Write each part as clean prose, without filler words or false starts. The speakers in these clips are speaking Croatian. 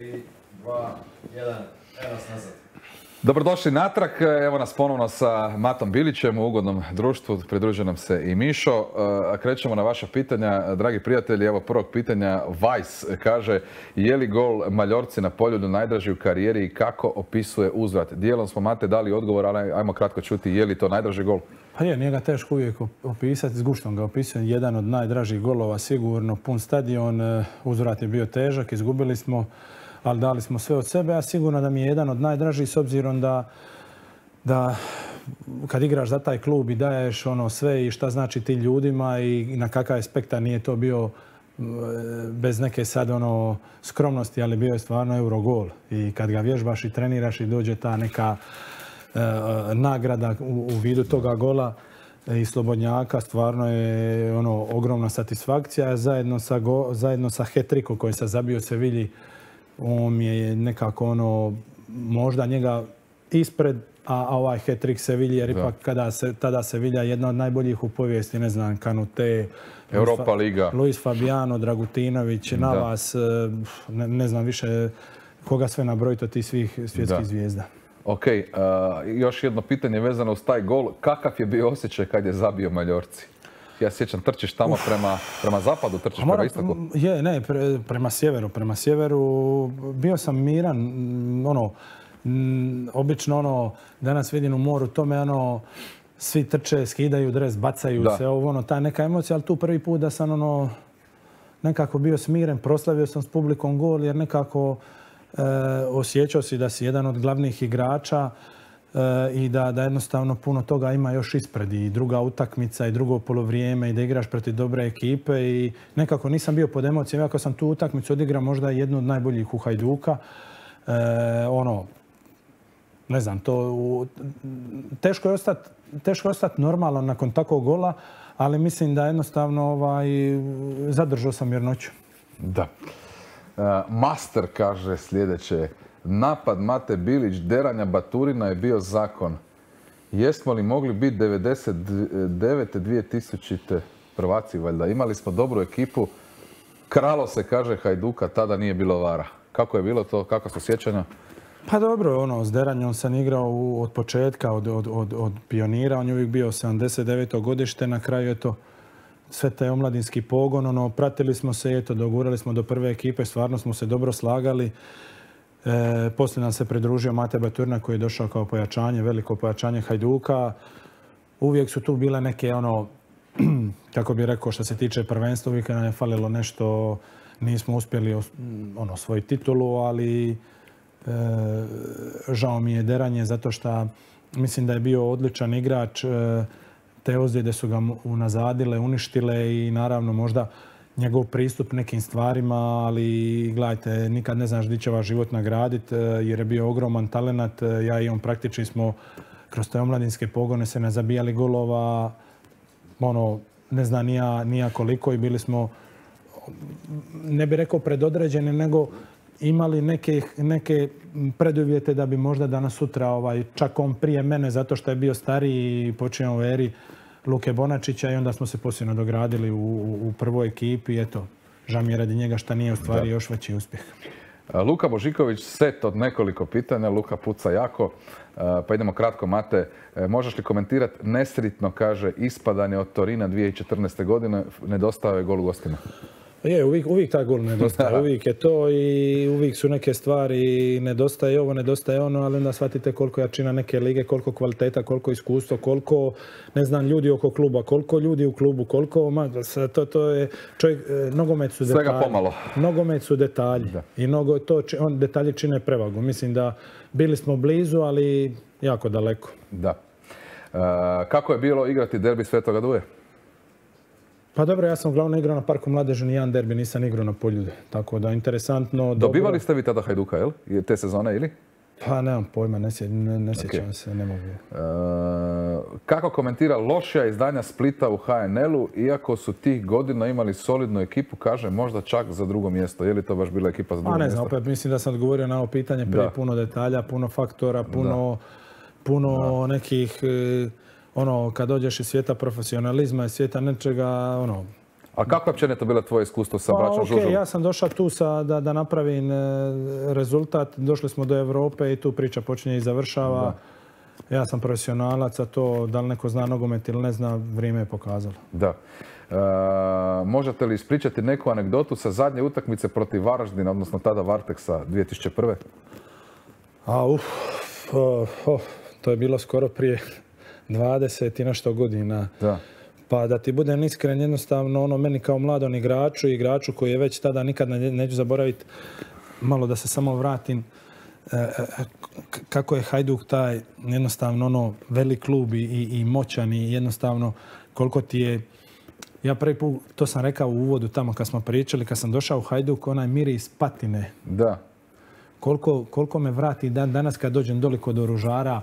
3, 2, 1, evo nas nazad. Dobrodošli natrag, evo nas ponovno sa Matom Bilićem u ugodnom društvu, pridružuje nam se i Mišo. Krećemo na vaša pitanja, dragi prijatelji. Evo prvog pitanja, Vice kaže, je li gol Maljorci na Poljudu najdraži u karijeri i kako opisuje uzvrat? Dijelom smo, Mate, dali odgovor, ali ajmo kratko čuti, je li to najdraži gol? Pa je, nije ga teško uvijek opisati, s guštom ga opisujem. Jedan od najdražih golova sigurno, pun stadion, uzvrat je bio težak, izgubili smo, ali dali smo sve od sebe, a sigurno da mi je jedan od najdražih s obzirom da kad igraš za taj klub i daješ ono sve i šta znači ti ljudima i na kakav aspekt, nije to bio bez neke sad ono skromnosti, ali bio je stvarno Eurogol. I kad ga vježbaš i treniraš i dođe ta neka nagrada u vidu toga gola i slobodnjaka, stvarno je ono ogromna satisfakcija. Zajedno sa hat-trickom koji se zabio u Sevilji, on je nekako ono možda njega ispred, a ovaj hat-trick Sevilje, jer ipak tada Sevilja jedna od najboljih u povijesti, ne znam, Kanute, Europa Liga, Luis Fabiano, Dragutinović, Navas, ne znam više koga sve nabrojiti od tih svih svjetskih zvijezda. Ok, još jedno pitanje vezano uz taj gol. Kakav je bio osjećaj kad je zabio Maljorci? Ja sjećam, trčiš tamo prema zapadu, trčiš prema istoku? Ne, prema sjeveru. Bio sam miran, obično danas vidim u moru tome, svi trče, skidaju dres, bacaju se, ta neka emocija, ali tu prvi put da sam nekako bio smiren, proslavio sam s publikom gol, jer nekako osjećao si da si jedan od glavnih igrača i da jednostavno puno toga ima još ispred i druga utakmica i drugo polovrijeme i da igraš protiv dobre ekipe i nekako nisam bio pod emocijama, iako sam tu utakmicu odigrao možda jednu od najboljih u Hajduka. Ne znam, teško je ostati normalan nakon takvog gola, ali mislim da jednostavno zadržao sam mirnoću. Da. Master kaže sljedeće. Napad Mate Bilić, deranja Baturina je bio zakon. Jesmo li mogli biti 99-2000 prvaci valjda? Imali smo dobru ekipu. Kralo se, kaže Hajduka, tada nije bilo vara. Kako je bilo to? Kako su sjećanja? Pa dobro, s deranjom sam igrao od početka, od pionira. On je uvijek bio 79. godište. Na kraju je to sve taj omladinski pogon. Pratili smo se, dogurali smo do prve ekipe. Stvarno smo se dobro slagali. Poslije nam se pridružio Mate Baturina koji je došao kao pojačanje, veliko pojačanje Hajduka. Uvijek su tu bile neke, kako bih rekao, što se tiče prvenstva, uvijek nam je falilo nešto. Nismo uspjeli osvojiti titulu, ali žao mi je deranje zato što mislim da je bio odličan igrač. Te ozljede su ga unazadile, uništile i naravno možda njegov pristup nekim stvarima, ali gledajte, nikad ne znaš gdje će vas život nagraditi jer je bio ogroman talenat. Ja i on praktički smo kroz te omladinske pogone se ne zabijali golova, ne znam ni ja koliko i bili smo, ne bih rekao predodređeni, nego imali neke preduvjete da bi možda danas sutra, čak on prije mene, zato što je bio stariji i počeo u eri Luke Bonačića i onda smo se poslije nadogradili u prvoj ekipi. Eto, žao mi je radi njega što nije ostvario još veći uspjeh. Luka Božiković, set od nekoliko pitanja. Luka puca jako. Pa idemo kratko, Mate. Možeš li komentirati nesritno, kaže, ispadanje od Torina 2014. godine? Nedostao je gol u gostima. Je, uvijek taj gol nedostaje, uvijek je to i uvijek su neke stvari, nedostaje ovo, nedostaje ono, ali onda shvatite koliko jačina neke lige, koliko kvaliteta, koliko iskustvo, koliko, ne znam, ljudi oko kluba, koliko ljudi u klubu, koliko, to je, čovjek, nogomet su detalji. Svega pomalo. Nogomet su detalji i detalji čine prevagu. Mislim da bili smo blizu, ali jako daleko. Da. Kako je bilo igrati derbi Svetoga Duje? Pa dobro, ja sam uglavnom igrao na Parku Mladeži, nijedan derbi nisam igrao na Poljudu. Tako da interesantno. Dobivali ste vi tada Hajduka, jel? Te sezone ili? Pa nemam pojma, ne sjećam se, ne mogu. Kako komentira lošija izdanja Splita u HNL-u, iako su tih godina imali solidnu ekipu, kaže možda čak za drugo mjesto. Je li to baš bila ekipa za drugo mjesto? Ne znam, opet mislim da sam odgovorio na ovo pitanje prije puno detalja, puno faktora, puno nekih, kad dođeš iz svijeta profesionalizma i svijeta nečega, A kako je općenito bilo tvoje iskustvo sa braćom Žužul? Ja sam došao tu da napravim rezultat. Došli smo do Europe i tu priča počinje i završava. Ja sam profesionalac, a to da li neko zna nogomet ili ne zna, vrijeme je pokazalo. Da. Možete li ispričati neku anegdotu sa zadnje utakmice protiv Varaždina, odnosno tada Varteksa 2001. To je bilo skoro prije 20 i nešto godina. Da. Pa da ti budem iskren, jednostavno meni kao mladom igraču koji je već tada nikad neću zaboraviti, malo da se samo vratim, kako je Hajduk taj jednostavno velik klub i moćan i jednostavno koliko ti je, ja prvi put, to sam rekao u uvodu tamo kad smo pričali, kad sam došao u Hajduk, onaj miris patine. Da. Koliko me vrati danas kad dođem doli kod oružara,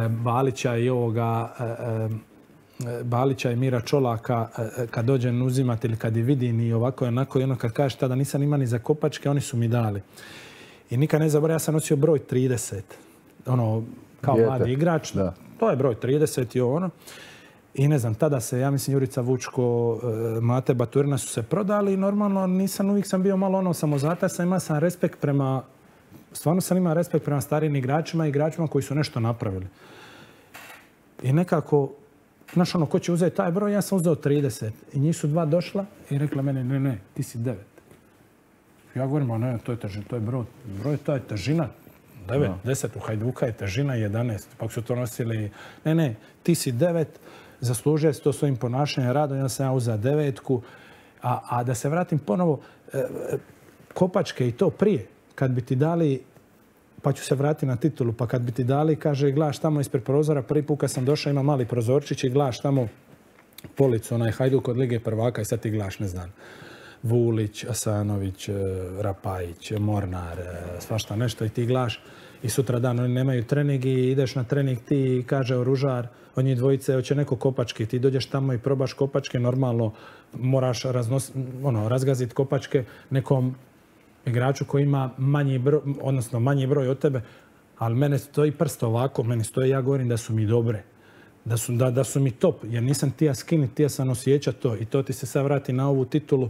Balića i ovoga, Balića i Mira Čolaka, kad dođem uzimati ili kad je vidim i ovako i onako, i ono kad kažeš tada nisam ima ni za kopačke, oni su mi dali. I nikad ne zaboravim, ja sam nosio broj 30. Kao mladi igrač, to je broj 30 i ono. I ne znam, tada se, ja mislim, Jurica Vučko, Mate Baturina su se prodali i normalno uvijek sam bio malo samozataj, imao sam respekt prema, stvarno sam imao respekt prema starijim igračima i igračima koji su nešto napravili. I nekako, znaš ko će uzeti taj broj, ja sam uzeo 30. I njih su dva došla i rekla meni, ne, ti si 9. Ja govorim, ne, to je težina, to je broj, to je težina. 9, 10 u Hajduka je težina 11. Pa su to nosili, ne, ti si 9, zaslužuje se to svojim ponašanjem, radom, ja sam uzeo 9. A da se vratim ponovo, kopačke i to prije, kad bi ti dali, pa ću se vratiti na titulu, pa kad bi ti dali, kaže, gledaš tamo ispred prozora, prvi put kad sam došao ima mali prozorčić i gledaš tamo policu, onaj Hajduk od Lige prvaka i sad ti gledaš, ne znam, Vulić, Asanović, Rapajić, Mornar, svašta nešto i ti gledaš i sutra dan oni nemaju trening i ideš na trening ti i kaže oružar, od njih dvojice hoće neko kopačke, ti dođeš tamo i probaš kopačke, normalno moraš razgaziti kopačke nekom igraču koji ima manji broj od tebe, ali mene stoji prst ovako, meni stoji, ja govorim da su mi dobre, da su mi top, jer nisam tija skinit, tija sam osjećat to i to ti se sad vrati na ovu titulu,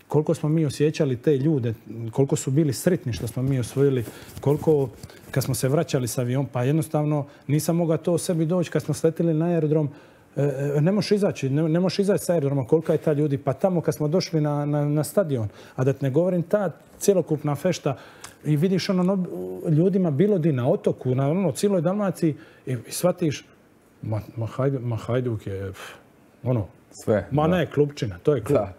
koliko smo mi osjećali te ljude, koliko su bili sretni što smo mi osvojili, koliko kad smo se vraćali s avion, pa jednostavno nisam mogao to o sebi doći kad smo sletili na aerodrom, ne možeš izaći sa aerodroma, kolika je ta ljudi, pa tamo kad smo došli na stadion, a da te ne govorim ta cjelokupna fešta i vidiš ljudima bilo di na otoku, na cijeloj Dalmaciji i shvatiš, ma Hajduk je sve. Ma ne, klubčina, to je klub. Da.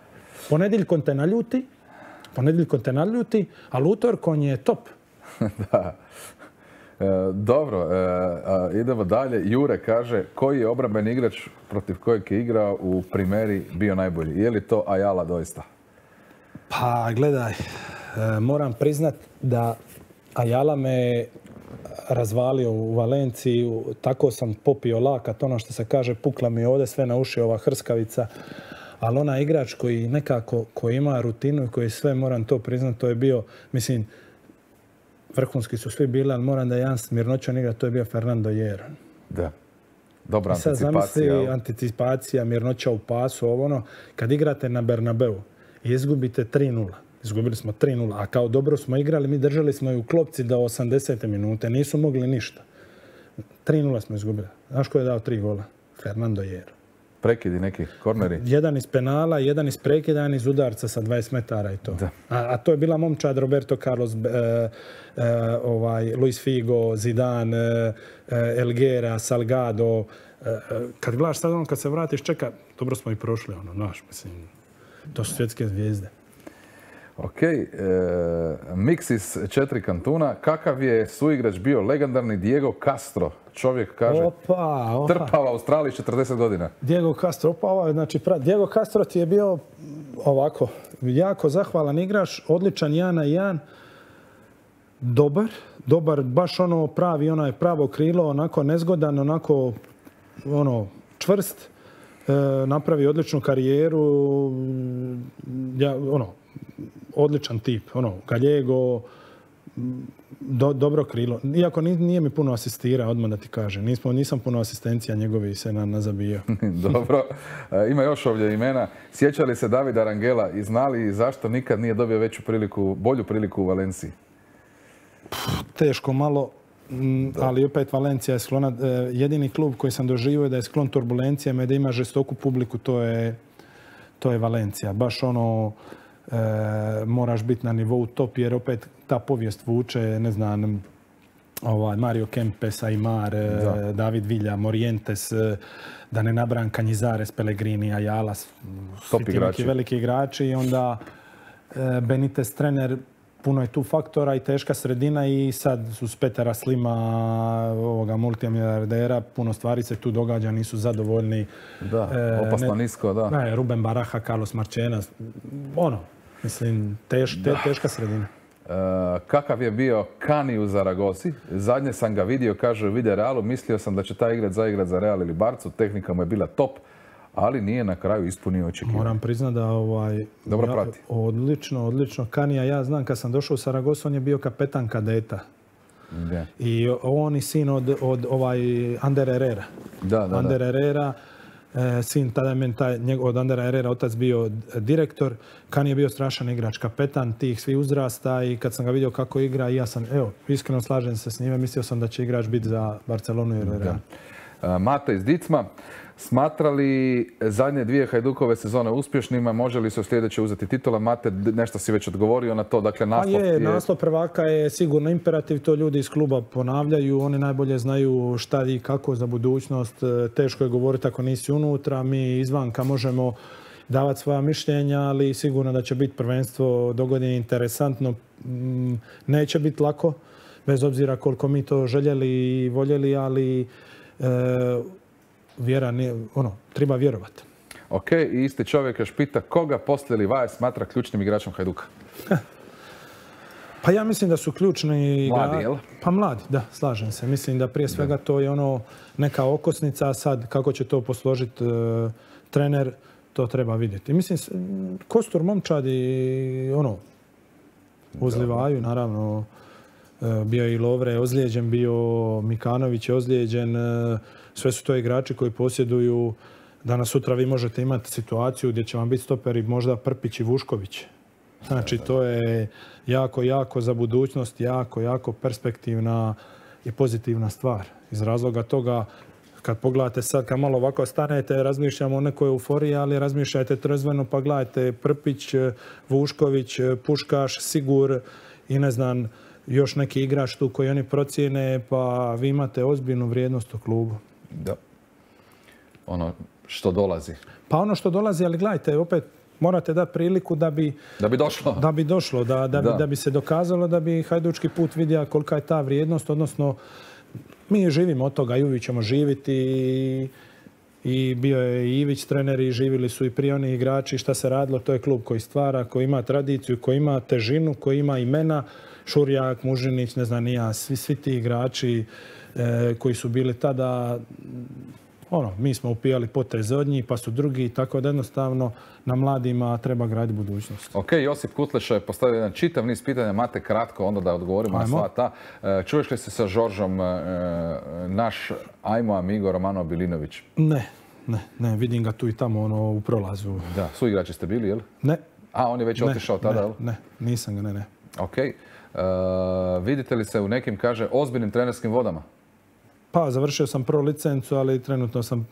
Ponedjeljkom te naljuti, ali utorkom je top. Da. Dobro, idemo dalje. Jure kaže, koji je obrambeni igrač protiv kojeg je igrao u Primeri bio najbolji? Je li to Ayala doista? Pa gledaj, moram priznat da Ayala me razvalio u Valenciji, tako sam popio lakat, ono što se kaže, pukla mi ovdje sve na uši ova hrskavica. Ali onaj igrač koji nekako, koji ima rutinu i koji sve, moram to priznat, to je bio, mislim, vrhunski su svi bili, ali moram da je jedan mirnoćan igra, to je bio Fernando Hierro. Da. Dobra anticipacija. Sad zamisli anticipacija, mirnoća u pasu, kad igrate na Bernabeu i izgubite 3-0. Izgubili smo 3-0, a kao dobro smo igrali, mi držali smo i u klopci do 80. minute, nisu mogli ništa. 3-0 smo izgubili. Znaš ko je dao 3 gola? Fernando Hierro. Prekidi neki, korneri? Jedan iz penala, jedan iz prekida, jedan iz udarca sa 20 metara i to. A to je bila momčad Roberto Carlos, Luis Figo, Zidane, Elguera, Salgado. Kad gledaš sad kad se vratiš, čeka, dobro smo i prošli, mislim, to su svjetske zvijezde. Ok, Mix iz 4 kantuna. Kakav je suigrač bio legendarni Diego Castro? Čovjek kaže, trpava Australiji 40 godina. Diego Castro, Diego Castro ti je bio ovako, jako zahvalan igrač, odličan 1 na 1, dobar, baš pravi, pravo krilo, onako nezgodan, onako, čvrst, napravi odličnu karijeru, odličan tip, Gallego, dobro krilo. Iako nije mi puno asistira, odmah da ti kažem. Nisam puno asistencija njegovi se nazabijao. Dobro. Ima još ovdje imena. Sjeća li se Davida Rangela i znali zašto nikad nije dobio bolju priliku u Valenciji? Teško malo, ali opet Valencija je sklona. Jedini klub koji sam doživio da je sklon turbulencijama i da ima žestoku publiku, to je Valencija. Baš moraš biti na nivou top, jer opet ta povijest vuče, ne znam, Mario Kempes, Aimar, David Villa, Morientes, da ne nabrajam Canizzares, Pellegrini, Ayala, svi ti neki veliki igrači. I onda Benitez trener, puno je tu faktora i teška sredina i sad su s Petera Slima, ovoga multimilijardera, puno stvari se tu događa, nisu zadovoljni. Da, opasno nisko, da. Ruben Baraja, Carlos Marchena, mislim, teška sredina. Kakav je bio Kani u Zaragozi? Zadnje sam ga vidio, kaže u Vide Realu, mislio sam da će taj zaigrat za Real ili Barcu, tehnika mu je bila top, ali nije na kraju ispunio očekivanje. Moram priznati da dobro prati. Odlično. Kanija, ja znam kad sam došao u Saragosu, on je bio kapetan kadeta. Yeah. I on i sin od Ander Herrera. Ander Herrera, sin tada je od Andera Herrera otac bio direktor. Kani je bio strašan igrač, kapetan tih svi uzrasta i kad sam ga vidio kako igra, ja sam, iskreno slažem se s njime, mislio sam da će igrač biti za Barcelonu i Real. Mate iz Dicma, smatra li zadnje 2 Hajdukove sezone uspješnima, može li se u sljedeće uzeti titula? Mate, nešto si već odgovorio na to, dakle naslov prvaka je sigurno imperativ, to ljudi iz kluba ponavljaju, oni najbolje znaju šta i kako za budućnost, teško je govoriti ako nisi unutra, mi izvanka možemo davati svoja mišljenja, ali sigurno da će biti prvenstvo dogodine interesantno, neće biti lako, bez obzira koliko mi to željeli i voljeli, ali treba vjerovati. Ok, i isti čovjek još pita koga poslije Livaja smatra ključnim igračom Hajduka? Pa ja mislim da su ključni mladi, jel? Pa mladi, da, slažem se. Mislim da prije svega to je neka okosnica, a sad kako će to posložiti trener, to treba vidjeti. Mislim, kostur momčadi, uz Livaju, naravno, bio je i Lovre ozlijeđen, bio Mikanović je ozlijeđen. Sve su to igrači koji posjeduju. Danas sutra vi možete imati situaciju gdje će vam biti stoperi možda Prpić i Vušković. Znači to je jako za budućnost, jako perspektivna i pozitivna stvar. Iz razloga toga, kad pogledate sad, kad malo ovako stanete, razmišljamo o nekoj euforiji, ali razmišljajte trezveno pa gledajte Prpić, Vušković, Puškaš, Sigur i ne znam, još neki igrač tu koji oni procijene, pa vi imate ozbiljnu vrijednost u klubu. Da. Ono što dolazi. Pa ono što dolazi, ali gledajte, opet morate dati priliku da bi došlo. Da bi se dokazalo, da bi hajdučki put vidio kolika je ta vrijednost, odnosno mi živimo od toga i uvijek ćemo živjeti i bio je i Ivić trener i živjeli su i prije oni igrači. Šta se radilo, to je klub koji stvara, koji ima tradiciju, koji ima težinu, koji ima imena. Šurjak, Mužinić, ne znam ni ja, svi ti igrači koji su bili tada, mi smo upijali potreze od njih, pa su drugi, tako da jednostavno na mladima treba graditi budućnost. Ok, Josip Kutleša je postavio jedan čitav niz pitanja, Mate kratko, onda da odgovorimo na sva ta. Čuješ li se sa Žoržom naš ajmo amigo Romano Bilinović? Ne, vidim ga tu i tamo u prolazu. Da, su igrači ste bili, jel? Ne. A, on je već otišao tada, jel? Ne, nisam ga, ne. Ok. Vidite li se u nekim, kaže, ozbiljnim trenerskim vodama? Pa, završio sam prvu licencu, ali trenutno sam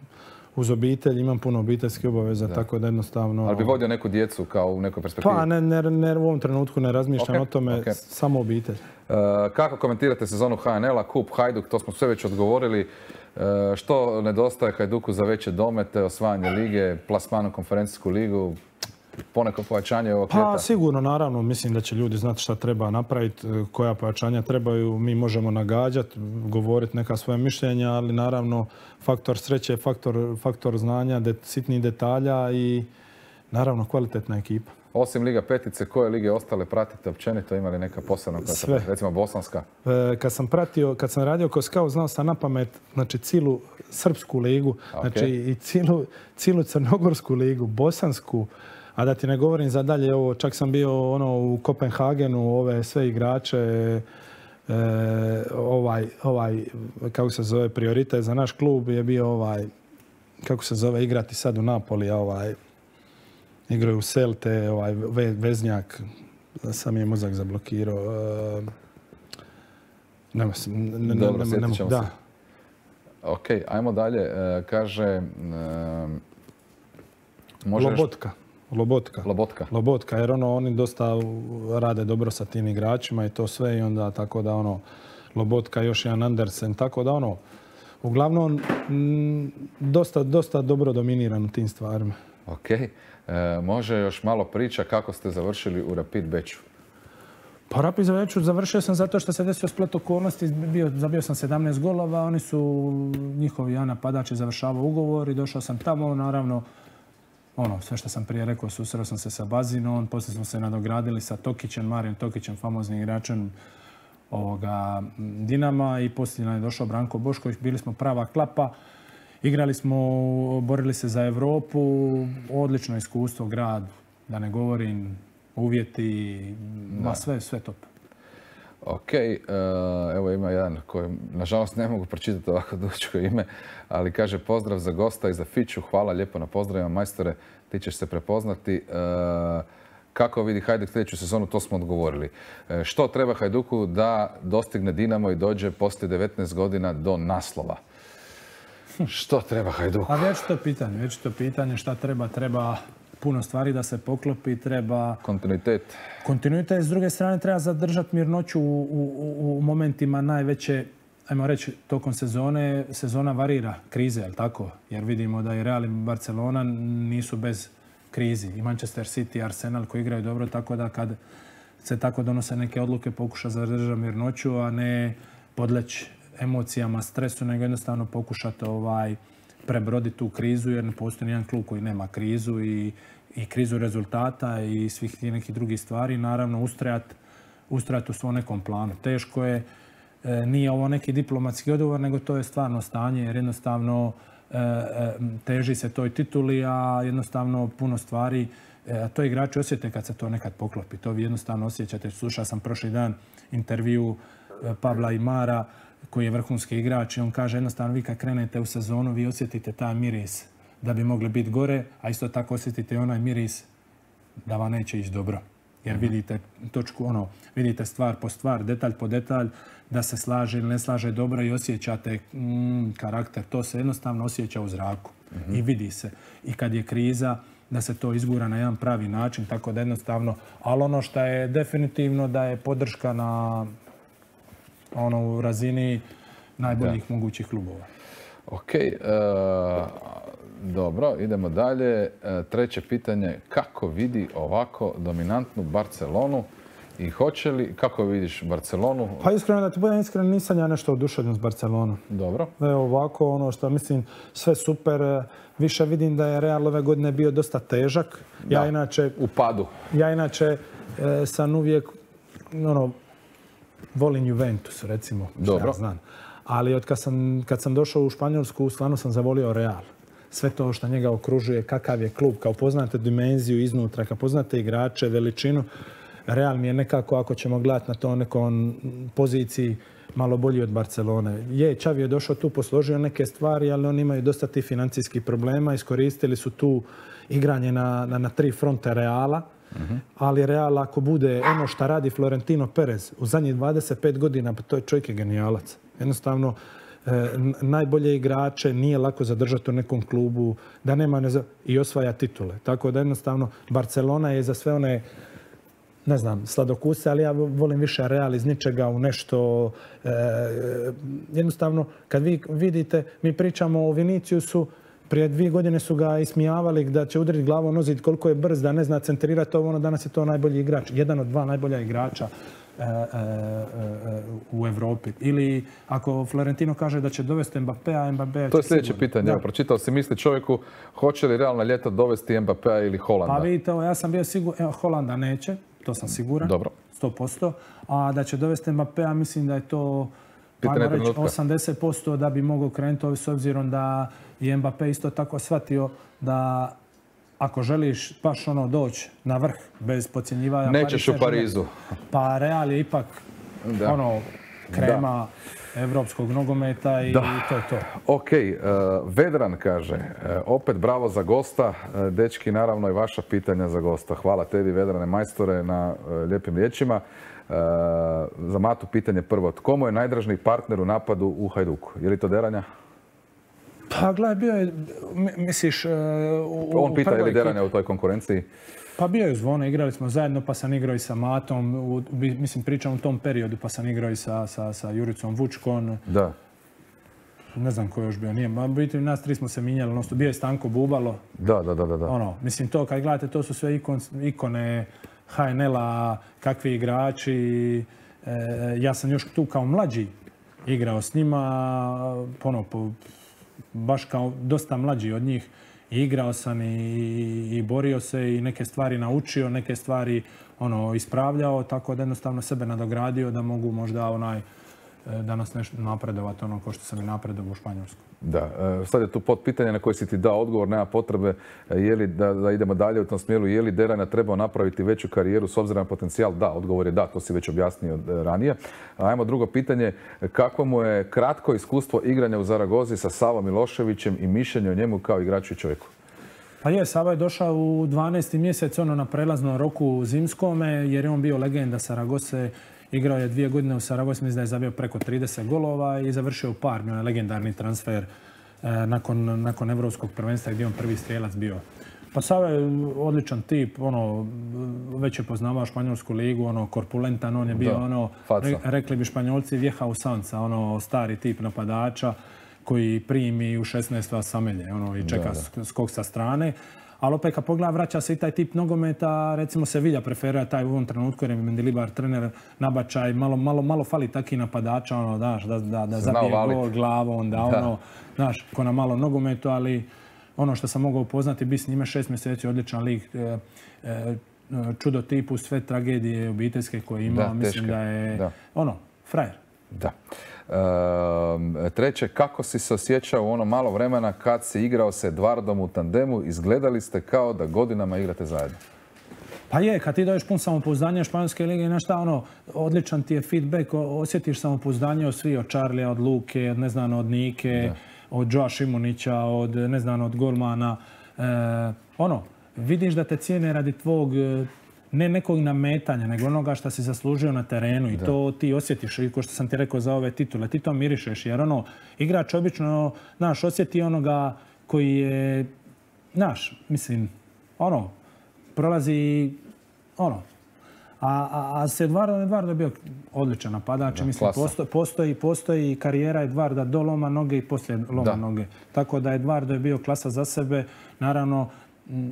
uz obitelj, imam puno obiteljskih obaveza, tako da jednostavno... Ali bi vodio neku djecu kao u nekoj perspektivi? Pa, ne, u ovom trenutku ne razmišljam o tome, samo obitelj. Kako komentirate sezonu HNL-a, Kup, Hajduk, to smo sve već odgovorili. Što nedostaje Hajduku za veće domete, osvajanje lige, plasman u konferencijsku ligu? Poneko pojačanje ovog ljeta? Pa sigurno, naravno. Mislim da će ljudi znati šta treba napraviti, koja pojačanja trebaju. Mi možemo nagađati, govoriti neka svoja mišljenja, ali naravno faktor sreće, faktor znanja, sitnih detalja i naravno kvalitetna ekipa. Osim Liga petice, koje lige ostale pratite općenito? Ima li neka posebna? Sve. Recimo Bosanska? Kad sam radio kao scout, znao sam na pamet cijelu Srpsku ligu, znači i cijelu Crnogorsku ligu, Bosansku. A da ti ne govorim za dalje, čak sam bio u Kopenhagenu, ove sve igrače, kako se zove, prioritet za naš klub je bio kako se zove, igrati sad u Napoli, igraju u Celte, veznjak, sam je mozak zablokirao. Dobro, sjetit ćemo se. Ok, ajmo dalje. Kaže... Lobotka, jer oni dosta rade dobro sa tim igračima i to sve i onda tako da Lobotka, još jedan Andersen, tako da uglavnom dosta dobro dominiran u tim stvarima. Ok, može još malo priča kako ste završili u Rapid Beču? Pa Rapid Beču završio sam zato što se desio splet okolnosti, zabio sam 17 golova, oni su njihovi napadači završavao ugovor i došao sam tamo, naravno sve što sam prije rekao, susreo sam se sa Bazinom, poslije smo se nadogradili sa Tokićem, Marijem Tokićem, famoznim igračem Dinama i poslije nam je došao Branko Bošković, bili smo prava klapa, igrali smo, borili se za Europu, odlično iskustvo, grad, da ne govorim, uvjeti, sve top. Ok, evo ima jedan koji, nažalost ne mogu pročitati ovako dugačko ime, ali kaže pozdrav za gosta i za Fiću, hvala lijepo na pozdravima, majstore, ti ćeš se prepoznati. Kako vidi Hajduk sljedeću sezonu, to smo odgovorili. Što treba Hajduku da dostigne Dinamo i dođe poslije 19 godina do naslova? Što treba Hajduku? A već to pitanje šta treba puno stvari da se poklopi, treba... Kontinuitet, s druge strane treba zadržati mirnoću u momentima najveće, ajmo reći, tokom sezona varira krize, jel tako? Jer vidimo da i Real i Barcelona nisu bez krizi. I Manchester City i Arsenal koji igraju dobro, tako da kad se tako donose neke odluke pokuša zadržati mirnoću, a ne podleći emocijama, stresu, nego jednostavno pokušati prebroditi tu krizu, jer ne postoji nijedan klub koji nema krizu i krizu rezultata i svih nekih drugih stvari. Naravno, ustrajati u svom nekom planu. Teško je, nije ovo neki diplomatski odgovor, nego to je stvarno stanje, jer jednostavno teži se toj tituli, a jednostavno puno stvari, to igrači osjete kad se to nekad poklopi. To vi jednostavno osjećate. Slušao sam prošli dan intervju Pavla Imara, koji je vrhunski igrač i on kaže jednostavno vi kad krenete u sezonu vi osjetite taj miris da bi mogli biti gore, a isto tako osjetite onaj miris da vam neće ići dobro. Jer vidite točku, vidite stvar po stvar, detalj po detalj, da se slaže ili ne slaže dobro i osjećate karakter. To se jednostavno osjeća u zraku i vidi se. I kad je kriza, da se to izgura na jedan pravi način, tako da jednostavno, ali ono što je definitivno da je podrška na u razini najboljih mogućih klubova. Ok, dobro, idemo dalje. Treće pitanje, kako vidi ovako dominantnu Barcelonu i hoće li, kako vidiš Barcelonu? Pa iskreno, da ti budem iskren, nisam ja nešto oduševljen s Barcelonom. Dobro. Evo ovako, ono što mislim, sve super. Više vidim da je Real ove godine bio dosta težak. Ja inače u padu. Ja inače sam uvijek, volim Juventus, recimo, što ja znam. Ali kad sam došao u Španjolsku, stvarno sam zavolio Real. Sve to što njega okružuje, kakav je klub, kao poznate dimenziju iznutra, kao poznate igrače, veličinu. Real mi je nekako, ako ćemo gledati na to nekom poziciji, malo bolji od Barcelone. Xavi je došao tu, posložio neke stvari, ali oni imaju dosta tih financijskih problema. Iskoristili su tu igranje na tri fronte Reala. Ali Real, ako bude ono što radi Florentino Perez u zadnjih 25 godina, pa to je čovjek je genijalac. Jednostavno, najbolje igrače nije lako zadržati u nekom klubu, da nema i osvaja titule. Tako da jednostavno Barcelona je za sve one, ne znam, sladokuse, ali ja volim više Real iz ničega u nešto. Jednostavno, kad vi vidite, mi pričamo o Viniciusu, prije 2 godine su ga ismijavali da će udariti glavom o zid, koliko je brz, da ne zna centrirati ovo, danas je to najbolji igrač. Jedan od 2 najbolja igrača u Evropi. Ili ako Florentino kaže da će dovesti Mbappéa, Mbappé... To je sljedeće pitanje. Evo, pročitao si misli čovjeku, hoće li Real na ljeto dovesti Mbappéa ili Holanda? Pa vidite, ja sam bio siguran, Holanda neće, to sam siguran, dobro. 100%. A da će dovesti Mbappéa, mislim da je to... Ajmo reći 80% da bi mogao krenuti, s obzirom da je Mbappé isto tako shvatio da ako želiš baš doći na vrh bez podcjenjivanja... Nećeš u Parizu. Pa Real je ipak krema evropskog nogometa i to je to. Ok, Vedran kaže, opet bravo za gosta. Dečki, naravno i vaša pitanja za gosta. Hvala tebi, Vedrane majstore, na lijepim riječima. Za Matu pitanje prvo. Tko mu je najdražniji partner u napadu u Hajduku? Je li to Deranja? Pa gledaj, bio je, misliš... On pita je li Deranja u toj konkurenciji? Pa bio je Zvone, igrali smo zajedno, pa sam igrao i sa Matom, mislim pričam u tom periodu, pa sam igrao i sa Juricom Vučkon. Da. Ne znam ko još bio, nije. Biti nas tri smo se minjali, bio je Stanko Bubalo. Da. Mislim to, kad gledate, to su sve ikone HNL-a, kakvi igrači. Ja sam još tu kao mlađi igrao s njima, baš kao dosta mlađi od njih. Igrao sam i borio se i neke stvari naučio, neke stvari ispravljao, tako da jednostavno sebe nadogradio da mogu možda danas nešto napredovati kao što sam i napredovao u Španjolsku. Da, sad je tu pod pitanje na koje si ti dao odgovor, nema potrebe da idemo dalje u tom smjeru. Je li Derana trebao napraviti veću karijeru s obzirom na potencijal? Da, odgovor je da, to si već objasnio ranije. Ajmo drugo pitanje, kako mu je kratko iskustvo igranja u Zaragozi sa Savom Miloševićem i mišljenje o njemu kao igraču i čovjeku? Pa je, Sava je došao u 12. mjesec na prelaznom roku zimskome jer je on bio legenda Saragose. Igrao je 2 godine u Saragosi, mislim da je zabio preko 30 golova i završio u Parmi, onaj legendarni transfer nakon Evropskog prvenstva gdje je on prvi strijelac bio. Pa Sava je odličan tip, već je poznavao španjolsku ligu, korpulentan, on je bio rekli bi Španjolci, vjeha u sanca, stari tip napadača koji primi u 16 vas samelje i čeka skok sa strane. Ali opet kad pogleda, vraća se i taj tip nogometa, recimo Sevilla preferira taj u ovom trenutku jer je Mendilibar trener nabačaj, malo fali takih napadača, da zabije gol glavom, ko na malo nogometu, ali ono što sam mogao upoznati, bi s njime 6 mjeseci, odličan lik, čudo tipu, sve tragedije obiteljske koje ima, mislim da je, frajer. Da. Treće, kako si se osjećao u ono malo vremena kad si igrao sa Edvardom u tandemu? Izgledali ste kao da godinama igrate zajedno. Pa je, kad ti daješ pun samopouzdanja Španjolske lige, znaš šta, odličan ti je feedback, osjetiš samopouzdanje od svih, od Čarlija, od Luke, od Nike, od Joa Šimunića, od golmana. Vidiš da te cijene radi tvog ne nekog nametanja, nego onoga što si zaslužio na terenu i to ti osjetiš, i ko što sam ti rekao za ove titule, ti to mirišeš, jer igrač obično, osjeti onoga koji je, prolazi, a s Edvardo je bio odličan napadač, mislim, postoji karijera Edvarda do loma noge i poslije loma noge, tako da Edvardo je bio klasa za sebe, naravno.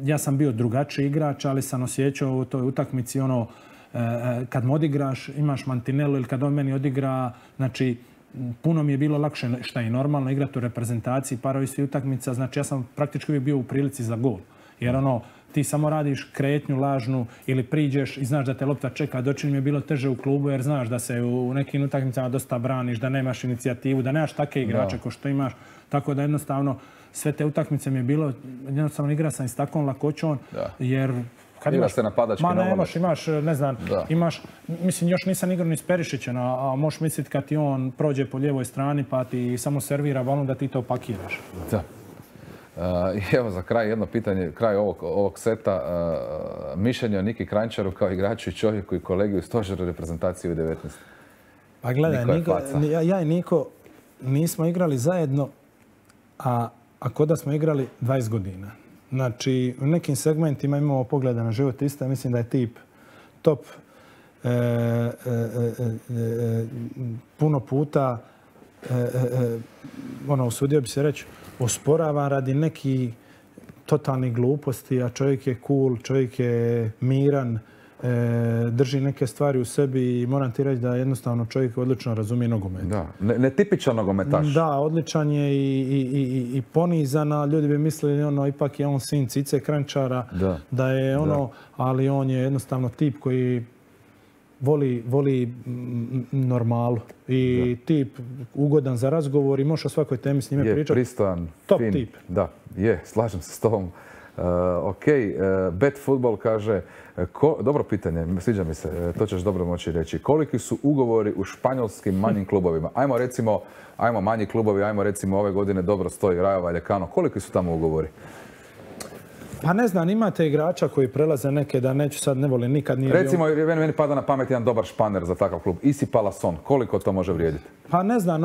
Ja sam bio drugačiji igrač, ali sam osjećao u toj utakmici kad mu odigraš, imaš mantinelu ili kad on meni odigra, znači puno mi je bilo lakše, šta je normalno, igrati u reprezentaciji, parovi svi utakmica, znači ja sam praktički uvijek bio u prilici za gol. Jer ti samo radiš kretnju lažnu ili priđeš i znaš da te lopta čeka. Dočin mi je bilo teže u klubu jer znaš da se u nekim utakmicama dosta braniš, da nemaš inicijativu, da nemaš takve igrače kao što imaš. Tako da jednostavno sve te utakmice mi je bilo, jednostavno igra sam i s takvom lakoćom, jer kad imaš se napadački nogomet. Imaš, mislim, još nisam igrao ni s Perišićem, a možeš misliti kad ti on prođe po lijevoj strani pa ti samo servira balon da ti to pakiraš. Da. Evo za kraj jedno pitanje, kraj ovog seta, mišljenje o Niki Kranjčaru kao igraču i čovjeku i kolegi u stožeru reprezentacije U19. Pa gledaj, ja i Niko nismo igrali zajedno, a ko da smo igrali 20 godina. Znači, u nekim segmentima imamo pogleda na život ista. Mislim da je tip top. Puno puta, usudio bi se reći, osporava radi nekih totalnih gluposti, a čovjek je cool, čovjek je miran, drži neke stvari u sebi i moram ti reći da jednostavno čovjek odlično razumije nogomet. Da, netipičan nogometaš. Da, odličan je i ponizan, a ljudi bi mislili ipak je on sin Cice Kranjčara, da je ali on je jednostavno tip koji voli normalu i tip ugodan za razgovor i možeš o svakoj temi s njime pričati. Je pristojan, top fin. Tip. Da, je, slažem se s tobom. Ok, Bet Football kaže, dobro pitanje, sviđa mi se, to ćeš dobro moći reći. Koliki su ugovori u španjolskim manjim klubovima? Ajmo manji klubovi, ajmo recimo ove godine dobro stoji Rayo Vallecano. Koliki su tamo ugovori? Pa ne znam, imate igrača koji prelaze neke, da neću sad, ne volim, nikad nije... Recimo, meni pada na pamet jedan dobar španer za takav klub. Isi Palason, koliko to može vrijediti? Pa ne znam,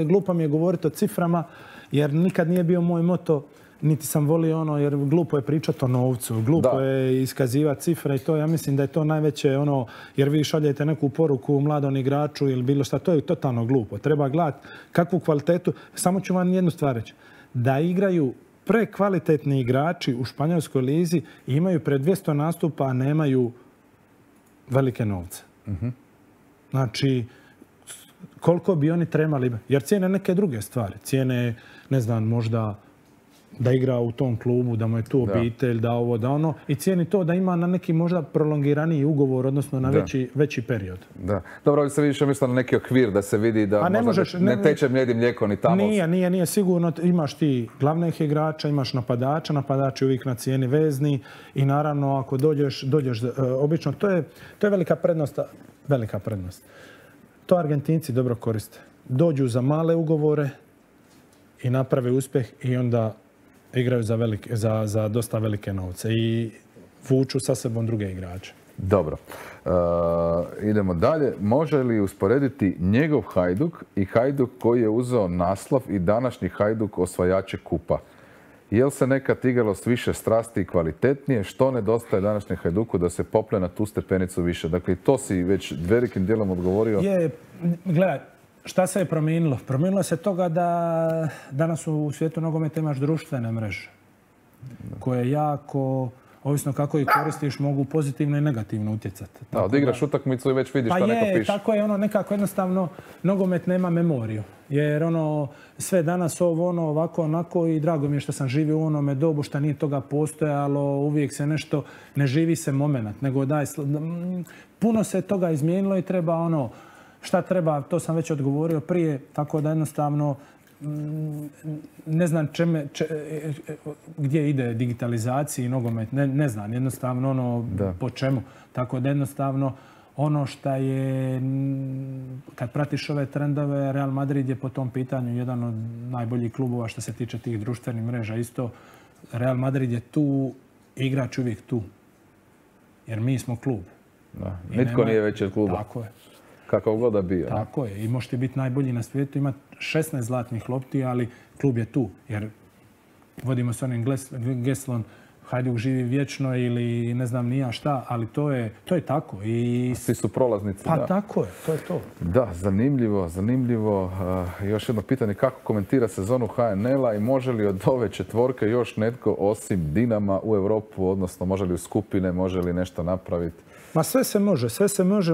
glupo mi je govoriti o ciframa, jer nikad nije bio moj moto, niti sam volio jer glupo je pričati o novcu, glupo je iskazivati cifre i to, ja mislim da je to najveće jer vi šaljete neku poruku mladom igraču ili bilo šta, to je totalno glupo. Treba gledati kakvu kvalitetu, samo ću vam jednu stvar reći, da igraju prekvalitetni igrači u španjolskoj lizi i imaju pred 200 nastupa, a nemaju velike novce. Znači, koliko bi oni trebali, jer cijene neke druge stvari. Cijene, ne znam, možda da igra u tom klubu, da mu je tu obitelj, da ovo, da ono. I cijeni to da ima na neki možda prolongiraniji ugovor, odnosno na veći period. Da. Dobro, ali se više misle na neki okvir da se vidi da ne teče mlijed i mlijeko ni tamo. Nije sigurno. Imaš ti glavnih igrača, imaš napadača, napadač je uvijek na cijeni vezni i naravno ako dođeš obično, to je velika prednost. To Argentinci dobro koriste. Dođu za male ugovore i naprave uspjeh i onda igraju za dosta velike novce i vuču sa sebom druge igrače. Dobro. Idemo dalje. Može li usporediti njegov Hajduk i Hajduk koji je uzeo naslov i današnji Hajduk osvajače kupa? Je li se nekad igralo s više strasti i kvalitetnije? Što nedostaje današnjem Hajduku da se popne na tu stepenicu više? Dakle, to si već velikim dijelom odgovorio. Gledaj, šta se je promijenilo? Promijenilo se toga da danas u svijetu nogometa imaš društvene mreže koje jako, ovisno kako ih koristiš, mogu pozitivno i negativno utjecati. Da, odigraš utakmicu i već vidiš šta neko piše. Tako je, nekako jednostavno nogomet nema memoriju. Jer sve danas ovako, onako i drago mi je što sam živio u onome dobu što nije toga postojalo, uvijek se nešto, ne živi se moment, nego puno se toga izmijenilo i treba šta treba, to sam već odgovorio prije, tako da jednostavno ne znam gdje ide digitalizaciji nogomet, ne znam jednostavno po čemu. Tako da jednostavno ono što je, kad pratiš ove trendove, Real Madrid je po tom pitanju jedan od najboljih klubova što se tiče tih društvenih mreža. Isto Real Madrid je tu, igrač uvijek tu. Jer mi smo klub. Nitko nije veći od kluba. Tako je. Kakav god da bio. Tako je. I možete biti najbolji na svijetu, imati 16 zlatnih lopti, ali klub je tu. Jer vodimo se onim geslom Hajduk živi vječno ili ne znam ni ja šta, ali to je tako. Svi su prolaznici. Pa tako je, to je to. Da, zanimljivo. Još jedno pitanje, kako komentira sezonu HNL-a i može li od ove četvorke još netko osim Dinama u Europu, odnosno može li u skupine, može li nešto napraviti? Ma sve se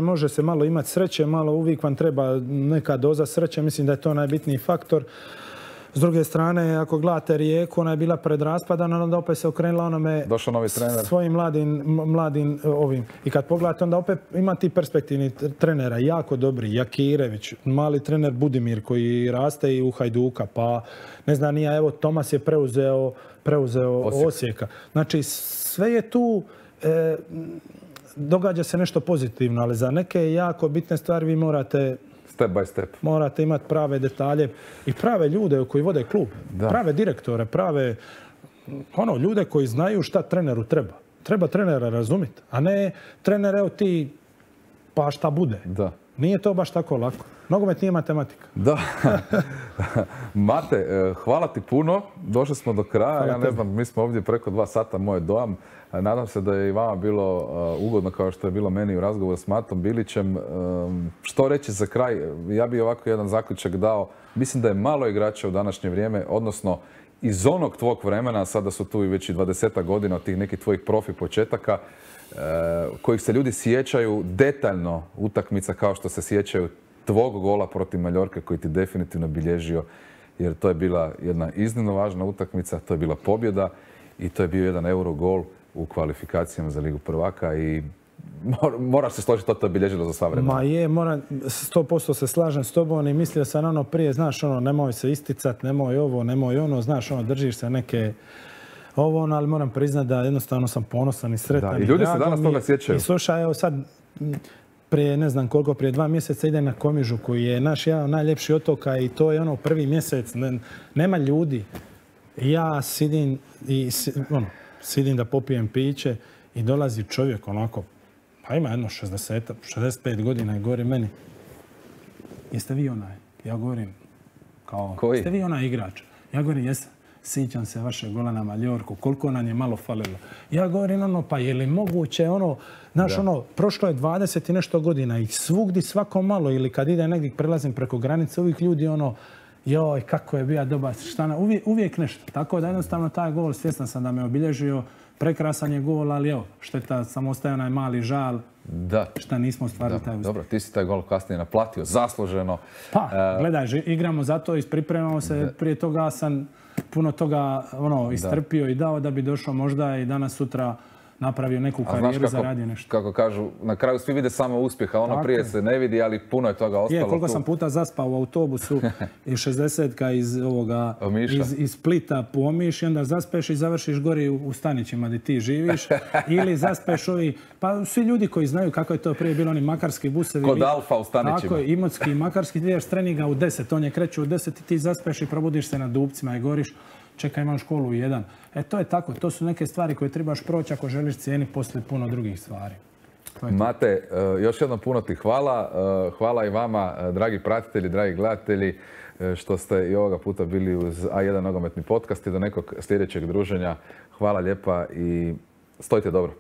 može se malo imati sreće, malo uvijek vam treba neka doza sreće, mislim da je to najbitniji faktor. S druge strane, ako gledate Rijeku, ona je bila pred raspadom, onda opet se okrenula onome svojim mladim ovim. I kad pogledate, onda opet ima ti perspektivni trenera, jako dobri, Jakirević, mali trener Budimir koji raste i u Hajduka, pa ne znam nija, evo Tomas je preuzeo Osijeka. Znači, sve je tu, događa se nešto pozitivno, ali za neke jako bitne stvari vi morate step by step. Morate imati prave detalje i prave ljude koji vode klub. Prave direktore, prave ljude koji znaju šta treneru treba. Treba trenera razumjeti, a ne trener, evo ti, pa šta bude. Da. Nije to baš tako lako. Nogomet nije matematika. Da. Mate, hvala ti puno. Došli smo do kraja. Ja ne znam, mi smo ovdje preko 2 sata, moj dojam. Nadam se da je i vama bilo ugodno kao što je bilo meni u razgovoru s Matom Bilićem. Što reći za kraj? Ja bih ovako jedan zaključak dao. Mislim da je malo igrača u današnje vrijeme, odnosno iz onog tvog vremena, sada su tu i već i 20 godina od tih nekih tvojih profi početaka, kojih se ljudi sjećaju detaljno utakmica kao što se sjećaju tvog gola protiv Maljorke koji ti definitivno bilježio, jer to je bila jedna iznimno važna utakmica, to je bila pobjeda i to je bio jedan Eurogol u kvalifikacijama za Ligu prvaka i moraš se složiti, to je bilježilo za sva vremena. Ma je, 100% se slažem s tobom i mislio sam prije, znaš nemoj se isticati, nemoj ovo, nemoj ono, znaš držiš se neke ali moram priznati da jednostavno sam ponosan i sretan. Da, i ljudi se danas toga sjećaju. I slušaj, evo sad, prije ne znam koliko, prije 2 mjeseca idem na Komižu koji je naš jedan najljepši otoka i to je prvi mjesec, nema ljudi. Ja sidim da popijem piće i dolazi čovjek onako, pa ima jedno 65 godina i govori meni, jeste vi onaj? Ja govorim, jeste vi onaj igrač? Ja govorim, jesam. Sjećam se vašeg gola na Maljorku, koliko nam je malo falilo. Ja govorim, pa je li moguće prošlo je 20 i nešto godina i svugdje svako malo ili kad ide negdje prelazim preko granice, uvijek ljudi joj, kako je bio dobar, uvijek nešto. Tako da jednostavno taj gol, svjestan sam da me obilježio, prekrasan je gol, ali evo, šteta, samo ostaje onaj mali žal. Da. Šta nismo ostvarili taj uspjeh. Dobro, ti si taj gol kasnije naplatio, zasluženo. Pa, gledaj, igramo za to, ispripremamo se, prije toga sam puno toga istrpio i dao da bi došao možda i danas sutra napravio neku karijeru, zaradio nešto. Kako kažu, na kraju svi vide samo uspjeh, a prije se ne vidi, ali puno je toga ostalo. Koliko sam puta zaspao u autobusu iz 60-ka iz Splita po Omiš i onda zaspeš i završiš gori u Stanićima gdje ti živiš. Ili zaspeš pa svi ljudi koji znaju kako je to prije bilo, oni makarski busevi. Kod Alfa u Stanićima. Tako je, Imotski, makarski, ti ideš treninga u 10, on je kreće u 10 i ti zaspeš i probudiš se na Dupcima i goriš. Čekaj, imam školu u 1. To je tako. To su neke stvari koje trebaš proći ako želiš cijeniti poslije puno drugih stvari. Mate, još jednom puno ti hvala. Hvala i vama, dragi pratitelji, dragi gledatelji, što ste i ovoga puta bili uz A1 nogometni podcast i do nekog sljedećeg druženja. Hvala lijepa i stojite dobro.